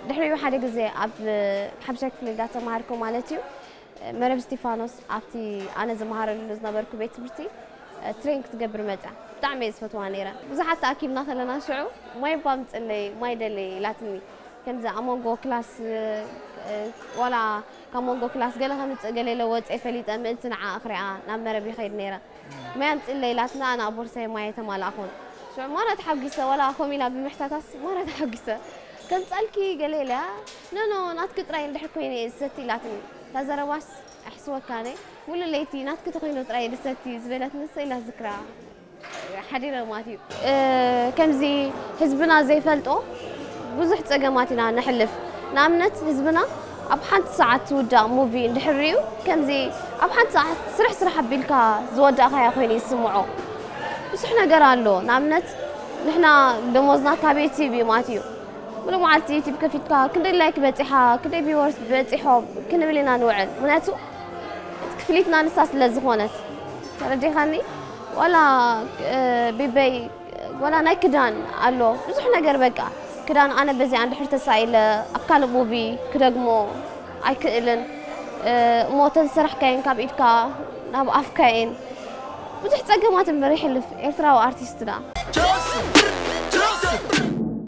ድሕሪኡ ሓደ ግዜ ኣብ ሓምሻይ ክፍሊ እንዳተማሃርኩ ማለት እዩ፣ መረብ እስቲፋኖስ ኣብቲ ኣነ ዝመሃረሉ ዝነበርኩ ቤት ትምህርቲ ትሬን ክትገብር መጽያ። ብጣዕሚ እየ ዝፈትዋ ነይረ። ብዙሓት ተኣኪብና ከለና ሽዑ ማይ እባ ኣምጽለይ፣ ማይ ደለይ ኢላትኒ። ከምዚ ኣብ መንጎ ክላስ ዋላ ካብ መንጎ ክላስ ገለ ከምጽእ ገለ ኢለ ወጽኤ ፈሊጠ ምእንቲ ንዓ ክሪኣ ናብ መረብ ይኸይድ ነይረ። ማይ ኣምጽለይ ኢላትና ኣነ ኣብ ቦርሳይ ማይ ኣይተማላእኹን። ሽዑ ማራ ተሓጒሰ፣ ዋላ ከምኡ ኢላ ብምሕታታስ ማራ ተሓጒሰ። ከምጻልኪ ገለ ኢለያ፣ ኖ ኖ ናትኪ ጥራይ እንድሕር ኮይነ እየ ዝሰቲ ኢላትኒ። እታ ዘረባስ ኣሕስወካነ፣ ሙሉእ ለይቲ ናትኪ ተኾይኑ ጥራይ እየ ዝሰቲ ዝበለትኒ ንሳ ኢላ ዝክራ ሓዲረ ማለት እዩ። ከምዚ ህዝብና ዘይፈልጦ ብዙሕ ጸገማት ኢና ነሕልፍ። ንኣብነት ህዝብና ኣብ ሓንቲ ሰዓት ትውዳእ ሙቪ እንድሕር ሪኡ፣ ከምዚ ኣብ ሓንቲ ሰዓት ስራሕ ስራሕ ኣቢልካ ዝወዳእካያ ኮይኑ ይስምዖ። ብዙሕ ነገር ኣሎ። ንኣብነት ንሕና ደሞዝና ካብ ዩቲብ እዩ ማለት እዩ። ሙሉ መዓልቲ ዩቲብ ከፊትካ ክንደይ ላይክ በጺሓ፣ ክንደይ ቪወርስ በጺሖም ክንብል ኢና ንውዕል። ምክንያቱ እቲ ክፍሊትና ንሳ ስለ ዝኾነት። ተረዲኻኒ? ዋላ ቢበይ ዋላ ናይ ክዳን ኣሎ፣ ብዙሕ ነገር በቃ። ክዳን ኣነ በዚኣ እንድሕር ተሳኢለ ኣብ ካልእ ሙቪ ክደግሞ ኣይክእልን። እሞ ተዝሰራሕካየን ካብ ኢድካ ናብ ኣፍካየን ብዙሕ ጸገማት እምበር ይሕልፍ ኤርትራዊ ኣርቲስት ደኣ።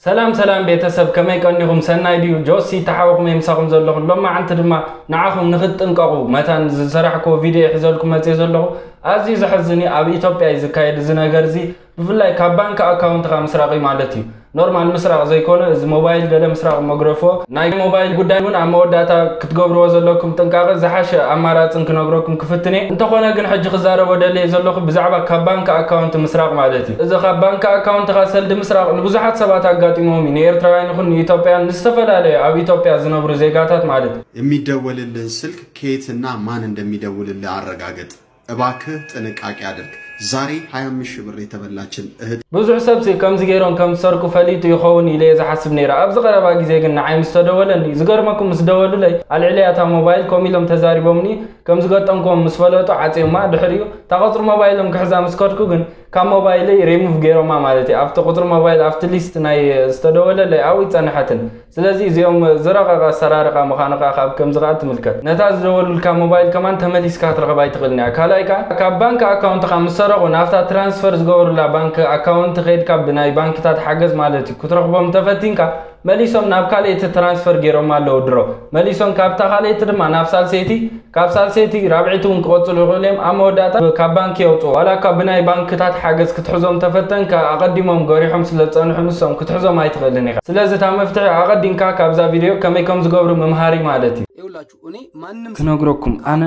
ሰላም ሰላም ቤተሰብ፣ ከመይ ቀኒኹም? ሰናይ ድዩ? ጆሲ ተሓውኹም እየ ምሳኹም ዘለኹ። ሎማዓንቲ ድማ ንዓኹም ንኽትጥንቀቑ መታን ዝሰራሕክዎ ቪድዮ እየ ሒዘልኩም መፅየ ዘለኹ። ኣዝዩ ዘሕዝን እዩ። ኣብ ኢትዮጵያ እዩ ዝካየድ እዚ ነገር እዚ። ብፍላይ ካብ ባንክ ኣካውንትኻ ምስራቕ እዩ ማለት እዩ። ኖርማል ምስራቕ ዘይኮነ፣ እዚ ሞባይል ገለ ምስራቕ መግረፎ ናይ ሞባይል ጉዳይ እውን ኣብ መወዳእታ ክትገብርዎ ዘለኩም ጥንቃቐ ዝሓሸ ኣማራፅን ክነግረኩም ክፍትን እየ። እንተኾነ ግን ሕጂ ክዛረቦ ደልየ ዘለኹ ብዛዕባ ካብ ባንክ ኣካውንት ምስራቕ ማለት እዩ። እዚ ካብ ባንክ ኣካውንትኻ ሰልዲ ምስራቕ ንብዙሓት ሰባት ኣጋጢሞም እዩ። ንኤርትራውያን ይኹን ንኢትዮጵያን ንዝተፈላለዩ ኣብ ኢትዮጵያ ዝነብሩ ዜጋታት ማለት እዩ። የሚደወልልህን ስልክ ከየትና ማን እንደሚደውልልህ አረጋግጥ። እባክህ ጥንቃቄ አድርግ። ዛሬ ሃያ አምስት ሺህ ብር የተበላችን እህት ብዙሕ ሰብሲ ከምዚ ገይሮም ከም ዝሰርቁ ፈሊጡ ይኸውን ኢለ እየ ዝሓስብ ነይረ። ኣብዚ ቀረባ ግዜ ግን ንዓይ ምስ ተደወለኒ፣ ዝገርመኩም ምስ ደወሉለይ ኣልዕለያ እታ ሞባይል ከምኡ ኢሎም ተዛሪቦምኒ፣ ከም ዝገጠምክዎም ምስ ፈለጡ ዓጽዮማ። ድሕሪኡ እታ ቁጽሪ ሞባይሎም ክሕዛ ምስ ከድኩ ግን ካብ ሞባይለይ ሪሙቭ ገይሮማ ማለት እዩ። ኣብቲ ቁጽሪ ሞባይል ኣብቲ ሊስት ናይ ዝተደወለለይ ኣብኡ ኣይጸንሐትን። ስለዚ እዚኦም ዝረቐቐ ኣሰራርቓ ምዃኑ ከኣ ካብ ከምዚ ከኣ ትምልከት። ነታ ዝደወሉልካ ሞባይል ከማን ተመሊስካ ክትረኽባ ኣይትኽእልን እያ። ካልኣይ ከኣ ካብ ባንክ ኣካውንትኻ ምስ ሰረቑ ናብታ ትራንስፈር ዝገበሩላ ባንክ ኣካውንት ከይድካ ብናይ ባንክታት ሓገዝ ማለት እዩ ክትረኽቦም እንተፈቲንካ መሊሶም ናብ ካልኣይቲ ትራንስፈር ገይሮማ ኣለዉ ድሮ። መሊሶም ካብታ ካልኣይቲ ድማ ናብ ሳልሰይቲ ካብ ሳልሰይቲ ራብዐይቲ እውን ክቐጽሉ ይኽእሉ እዮም። ኣብ መወዳእታ ካብ ባንኪ የውጽኡ። ዋላ እኳ ብናይ ባንክታት ሓገዝ ክትሕዞም ተፈተንካ፣ ኣቐዲሞም ገሪሖም ስለ ዝጸንሑ ንሶም ክትሕዞም ኣይትኽእልን ኢኻ። ስለዚ እታ መፍትሒ ኣቐዲምካ ካብዛ ቪድዮ ከመይ ከም ዝገብሩ ምምሃር እዩ ማለት እዩ። ይኸውላችሁ እኔ ማንም ክነግረኩም ኣነ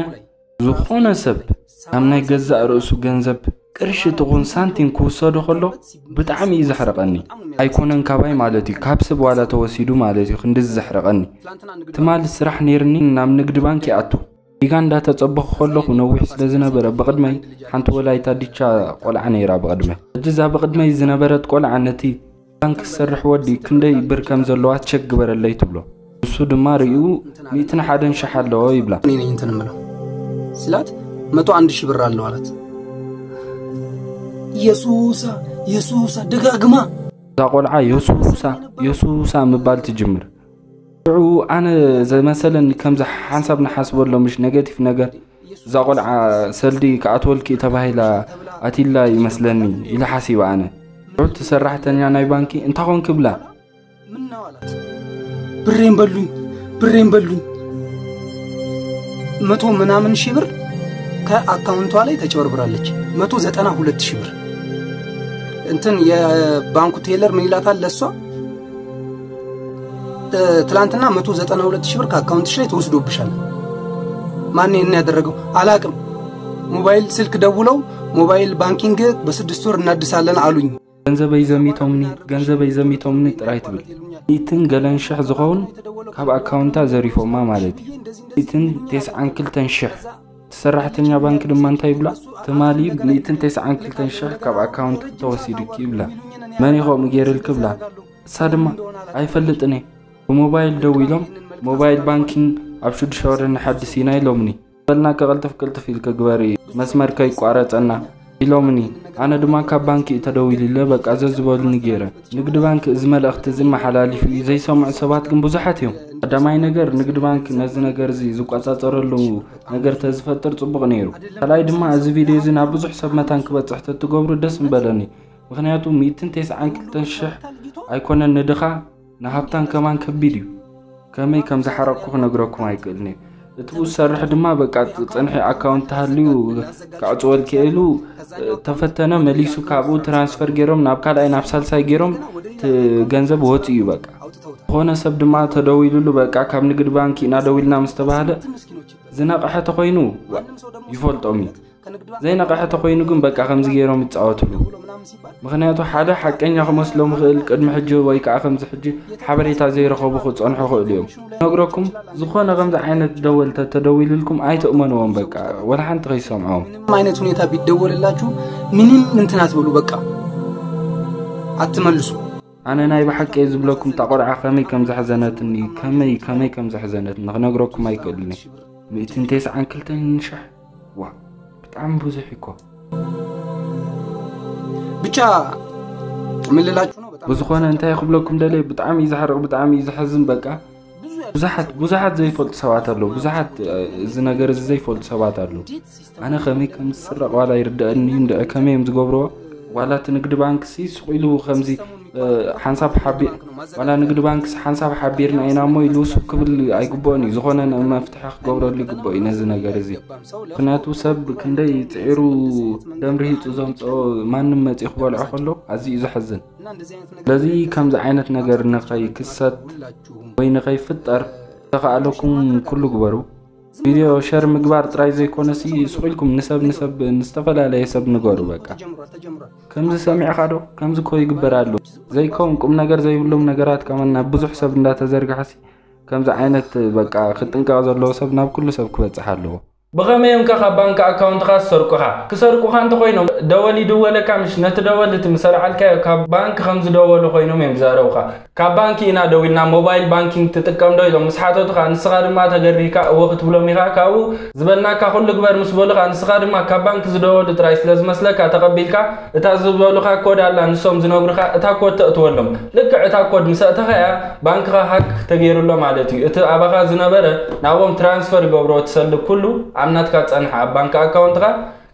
ዝኾነ ሰብ ካብ ናይ ገዛእ ርእሱ ገንዘብ ቅርሺ ትኹን ሳንቲም ክውሰዶ ከሎ ብጣዕሚ እዩ ዘሕርቐኒ። ኣይኮነን ካባይ ማለት እዩ፣ ካብ ሰብ ዋላ ተወሲዱ ማለት እዩ ክንድዚ ዘሕርቐኒ። ትማሊ ስራሕ ነይርኒ ናብ ንግዲ ባንክ ይኣቱ። ዲጋ እንዳተጸበኹ ከለኹ ነዊሕ ስለ ዝነበረ ብቕድመይ ሓንቲ ወላይታ ዲቻ ቆልዓ ነይራ ብቕድመይ። ሕጂ እዛ ብቕድመይ ዝነበረት ቆልዓ ነቲ ባንክ ዝሰርሕ ወዲ ክንደይ ብር ከም ዘለዋ ቸክ ግበረለይ ትብሎ። ንሱ ድማ ርእዩ ሚእትን ሓደን ሽሕ ኣለዎ ይብላ። እኔ ነኝ እንትን የምለው ስላት መቶ አንድ ሺህ ብር አለው አላት። የሱሳ የሱሳ ደጋግማ እዛ ቆልዓ የሱሳ የሱሳ ምባል ትጅምር። ሽዑ ኣነ ዝመሰለኒ ከምዚ ሓንሳብ ንሓስበሎ ምሽ ኔጋቲቭ ነገር እዛ ቆልዓ ሰልዲ ክኣትወልኪ ተባሂላ ኣትይላ ይመስለኒ ኢለ ሓሲበ ኣነ። ሽዑ እቲ ሰራሕተኛ ናይ ባንኪ እንታይ ኾንኪ ብላ ምነው አላት። ብሬን በሉኝ ብሬን በሉኝ። መቶ ምናምን ሺህ ብር ከአካውንቷ ላይ ተጭበርብራለች። መቶ ዘጠና ሁለት ሺህ ብር እንትን የባንኩ ቴለር ምን ይላታል ለሷ ትላንትና መቶ ዘጠና ሁለት ሺህ ብር ከአካውንትሽ ላይ ተወስዶብሻል። ማን ይሄን ያደረገው አላቅም። ሞባይል ስልክ ደውለው ሞባይል ባንኪንግ በስድስት ወር እናድሳለን አሉኝ። ገንዘበይ ዘሚቶምኒ ገንዘበይ ዘሚቶምኒ ጥራይ ትብል። ሚእትን ገለን ሽሕ ዝኸውን ካብ ኣካውንታ ዘሪፎማ ማለት እዩ። ሚእትን ተስዓን ክልተን ሽሕ። እቲ ሰራሕተኛ ባንክ ድማ እንታይ ይብላ? ትማሊ ሚእትን ተስዓን ክልተን ሽሕ ካብ ኣካውንት ተወሲዱኪ ይብላ። መን እዩ ከምኡ ገይርልኪ ይብላ። እሳ ድማ ኣይፈልጥን እየ። ብሞባይል ደዊሎም ሞባይል ባንኪንግ ኣብ ሽዱሽተ ወረ ንሓድስ ኢና ኢሎምኒ። በልና ከቕልጥፍ ቅልጥፍ ኢልኪ ግበሪ መስመር ከይቋረፀና። ኢሎምኒ። ኣነ ድማ ካብ ባንኪ እዩ ተደዊሉለ፣ በቃ ዘዝበሉኒ ገይረ። ንግድ ባንክ እዚ መልእኽቲ እዚ መሓላሊፉ እዩ። ዘይሰምዑ ሰባት ግን ብዙሓት እዮም። ቀዳማይ ነገር፣ ንግድ ባንክ ነዚ ነገር እዚ ዝቆጻጸረሉ ነገር ተዝፈጥር ጽቡቕ ነይሩ። ካልኣይ ድማ፣ እዚ ቪድዮ እዚ ናብ ብዙሕ ሰብ መታን ክበጽሕ ተትገብሩ ደስ ምበለኒ። ምኽንያቱ ሚእትን ተስዓን ክልተን ሽሕ ኣይኮነን ንድኻ፣ ንሃብታም ከማን ከቢድ እዩ። ከመይ ከም ዝሓረቕኩ ክነግረኩም ኣይክእልን እየ። እቲ ብኡ ዝሰርሕ ድማ በቃ ጸንሒ ኣካውንት ተሃልዩ ክዕጽወልኪ ኢሉ ተፈተነ፣ መሊሱ ካብኡ ትራንስፈር ገይሮም ናብ ካልኣይ ናብ ሳልሳይ ገይሮም እቲ ገንዘብ ወፂኡ እዩ። በቃ ዝኾነ ሰብ ድማ ተደዊሉሉ በቃ ካብ ንግድ ባንክ ኢና ደዊልና ምስ ተባህለ ዝነቕሐ ተኾይኑ ይፈልጦም እዩ። ዘይነቕሐ ተኾይኑ ግን በቃ ከምዚ ገይሮም ይጻወትሉ። ምኽንያቱ ሓደ ሓቀኛ ክመስሎም ይኽእል ቅድሚ ሕጂ ወይ ከዓ ከምዚ ሕጂ ሓበሬታ ዘይረኸቡ ክጸንሑ ይኽእሉ እዮም። ነግረኩም ዝኾነ ከምዚ ዓይነት ደወል ተተደዊልልኩም ኣይትእመንዎም። በቃ ወላ ሓንቲ ከይሰምዖም። ምንም አይነት ሁኔታ ቢደወልላችሁ ምንም እንትን አትበሉ። በቃ አትመልሱ። ኣነ ናይ ብሓቂ እየ ዝብለኩም፣ እታ ቆልዓ ከመይ ከም ዘሕዘነትኒ፣ ከመይ ከመይ ከም ዘሕዘነትኒ ክነግረኩም ኣይክእልን እየ። ሚእትን ተስዓን ክልተን ሽሕ፣ ዋ፣ ብጣዕሚ ብዙሕ እኮ። ብቻ ምን ልላችሁ ነው፣ በጣም ብዝኾነ እንታይ ክብለኩም ደልየ፣ ብጣዕሚ እዩ ዘሕርቕ፣ ብጣዕሚ እዩ ዘሕዝን። በቃ ብዙሓት ብዙሓት ዘይፈልጡ ሰባት ኣለዉ። ብዙሓት እዚ ነገር እዚ ዘይፈልጡ ሰባት ኣለዉ። ኣነ ከመይ ከም ዝስረቕ ዋላ ይርድኣኒ እንድዒ፣ ከመይ እዮም ዝገብርዎ? ዋላ እቲ ንግዲ ባንክሲ ስቕ ኢሉ ከምዚ ሓንሳብ ሓቢ ዋላ ንግዲ ባንክስ ሓንሳብ ሓቢርና ኢና እሞ ኢሉ ስብ ክብል ኣይግብኦን እዩ። ዝኾነ መፍትሒ ክገብረሉ ይግብኦ እዩ ነዚ ነገር እዚ። ምክንያቱ ሰብ ክንደይ ፅዒሩ ደም ርሂፁ ዘምፅኦ ማንም መፂኡ ክበልዖ ከሎ ኣዝዩ እዩ ዘሕዝን። ስለዚ ከምዚ ዓይነት ነገር ንኸይክሰት ወይ ንኸይፍጠር ዝተኻእለኩም ኩሉ ግበሩ። ቪድዮ ሸር ምግባር ጥራይ ዘይኮነሲ ስቕ ኢልኩም ንሰብ ንሰብ ንዝተፈላለየ ሰብ ንገሩ። በቃ ከምዚ ሰሚዕኻ ዶ ከምዚ እኮ ይግበር ኣሎ ዘይከውን ቁም ነገር ዘይብሎም ነገራት ከማን ናብ ብዙሕ ሰብ እንዳተዘርግሐሲ ከምዚ ዓይነት በቃ ክጥንቀቕ ዘለዎ ሰብ ናብ ኩሉ ሰብ ክበፅሕ ኣለዎ። ብኸመይ እዮም ከ ካብ ባንክ ኣካውንትኻ ዝሰርቁኻ? ክሰርቁኻ እንተኾይኖም ደወል ይድወለካ ምሽ? ነቲ ደወል እቲ ምስ ኣልዓልካዮ ካብ ባንክ ከም ዝደወሉ ኮይኖም እዮም ዝዛረቡኻ። ካብ ባንኪ ኢና ደዊልና ሞባይል ባንኪንግ ትጥቀም ዶ ኢሎም ምስ ሓተቱኻ ንስኻ ድማ ተገሪህካ እወ ክትብሎም ኢኻ። ካብኡ ዝበልናካ ኩሉ ግበር ምስ በሉኻ ንስኻ ድማ ካብ ባንክ ዝደወሉ ጥራይ ስለ ዝመስለካ ተቐቢልካ እታ ዝበሉኻ ኮድ ኣላ ንሶም ዝነግሩኻ እታ ኮድ ተእትወሎም። ልክዕ እታ ኮድ ምስ ኣእተኻያ ባንክኻ ሃክ ተገይሩ ኣሎ ማለት እዩ። እቲ ኣባኻ ዝነበረ ናብኦም ትራንስፈር ይገብርዎ እቲ ሰልዲ ኩሉ ኣብ ናትካ ዝጸንሐ ኣብ ባንክ ኣካውንትኻ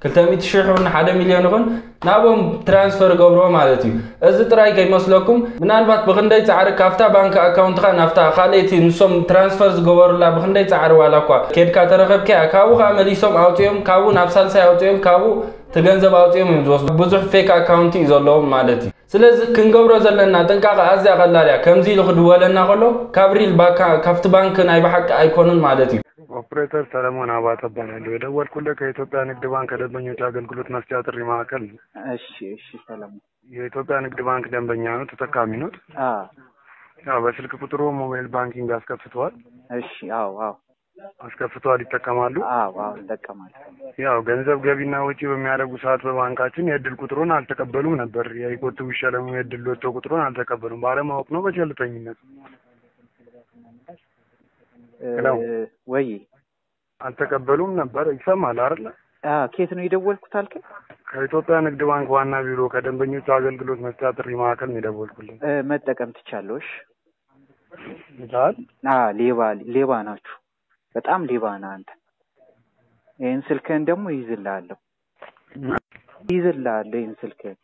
ክልተ ሚእቲ ሽሕ ይኹን ሓደ ሚልዮን ይኹን ናብኦም ትራንስፈር ይገብርዎ ማለት እዩ። እዚ ጥራይ ከይመስለኩም ምናልባት ብኽንደይ ጻዕሪ ካብታ ባንክ ኣካውንትኻ ናብታ ካልኣይቲ ንሶም ትራንስፈር ዝገበሩላ ብኽንደይ ጻዕሪ ዋላ እኳ ኬድካ ተረኸብካያ ካብኡ ኸኣ መሊሶም ኣውጺኦም ካብኡ ናብ ሳልሳይ ኣውጺኦም ካብኡ እቲ ገንዘብ ኣውጺኦም እዮም ዝወስዱ። ብዙሕ ፌክ ኣካውንቲ እዩ ዘለዎም ማለት እዩ። ስለዚ ክንገብሮ ዘለና ጥንቃቐ ኣዝያ ቀላል እያ። ከምዚ ኢሉ ክድወለና ከሎ ካብ ሪል ባካ ካብቲ ባንክ ናይ ብሓቂ ኣይኮኑን ማለት እዩ። ኦፕሬተር ሰለሞን አባተ እባላለሁ። የደወልኩልህ ከኢትዮጵያ ንግድ ባንክ ከደንበኞች አገልግሎት መስጫ ጥሪ ማዕከል ነው። እሺ እሺ ሰለሞን። የኢትዮጵያ ንግድ ባንክ ደንበኛ ነው፣ ተጠቃሚ ነው። አዎ ያው በስልክ ቁጥሩ ሞባይል ባንኪንግ አስከፍተዋል። እሺ አዎ አዎ አስከፍተዋል ይጠቀማሉ። አዎ አዎ እጠቀማለሁ። ያው ገንዘብ ገቢና ወጪ በሚያደርጉ ሰዓት በባንካችን የእድል ቁጥሩን አልተቀበሉም ነበር። የይቆጥቡ ይሸለሙ የእድል ሎቶ ቁጥሩን አልተቀበሉም። ባለማወቅ ነው በቸልተኝነት? እ፣ ወይ አልተቀበሉም ነበር። ይሰማል አይደለ? አ ኬት ነው የደወልኩት አልከኝ? ከኢትዮጵያ ንግድ ባንክ ዋና ቢሮ ከደንበኞች አገልግሎት መስጫ ጥሪ ማዕከል ነው የደወልኩልኝ። እ፣ መጠቀም ትቻለሽ? ይታል አ ሌባ ሌባ ናችሁ። በጣም ሌባ ነህ አንተ። ይህን ስልክህን ደግሞ ይይዝልሃለሁ። ይይዝልሃለሁ ይህን ስልክህን።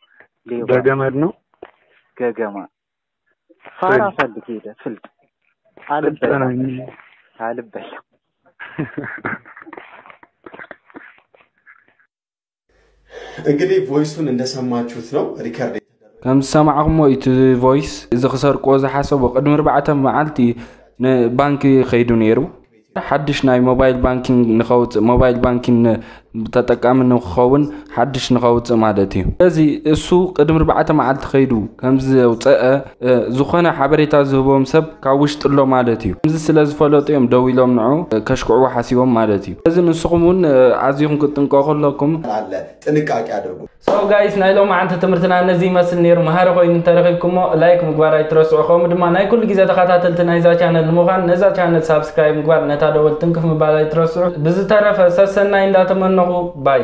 ሌባ በገመድ ነው። ገገማ ፋራ ፈልግ ሄደ ፍልጥ አልበላም አልበላም። እንግዲህ ቮይሱን እንደሰማችሁት ነው ሪከርድ ከም ዝሰማዕኩሞ እቲ ቮይስ እዚ ክሰርቅዎ ዝሓሰቡ ቅድሚ ኣርባዕተ መዓልቲ ንባንኪ ከይዱ ነይሩ። ሓድሽ ናይ ሞባይል ባንኪንግ ንኸውፅእ ሞባይል ባንኪንግ ተጠቃሚ ንክኸውን ሓድሽ ንኸውፅእ ማለት እዩ። ስለዚ እሱ ቅድሚ ኣርባዕተ መዓልቲ ከይዱ ከም ዘውፀአ ዝኾነ ሓበሬታ ዝህቦም ሰብ ካብ ውሽጢ ኣሎ ማለት እዩ። ከምዚ ስለ ዝፈለጡ እዮም ደው ኢሎም ንዑ ከሽክዕዎ ሓሲቦም ማለት እዩ። ስለዚ ንስኹም እውን ኣዚኹም ክትጥንቀቑ ኣለኩም። አለ ጥንቃቄ አድርጉ። So guys ናይ ሎማዓንቲ ትምህርትና ነዚ ይመስል ነይሩ። መሃሪ ኮይኑ እንተረኺብኩሞ ላይክ ምግባር ኣይትረስዑ። ከምኡ ድማ ናይ ኩሉ ግዜ ተኸታተልቲ ናይዛ ቻነል ንምዃን ነዛ ቻነል ሳብስክራይብ ምግባር ነታ ደወል ትንክፍ ምባል ኣይትረስዑ። ብዝተረፈ ሰሰናይ እንዳተመነኹ ባይ።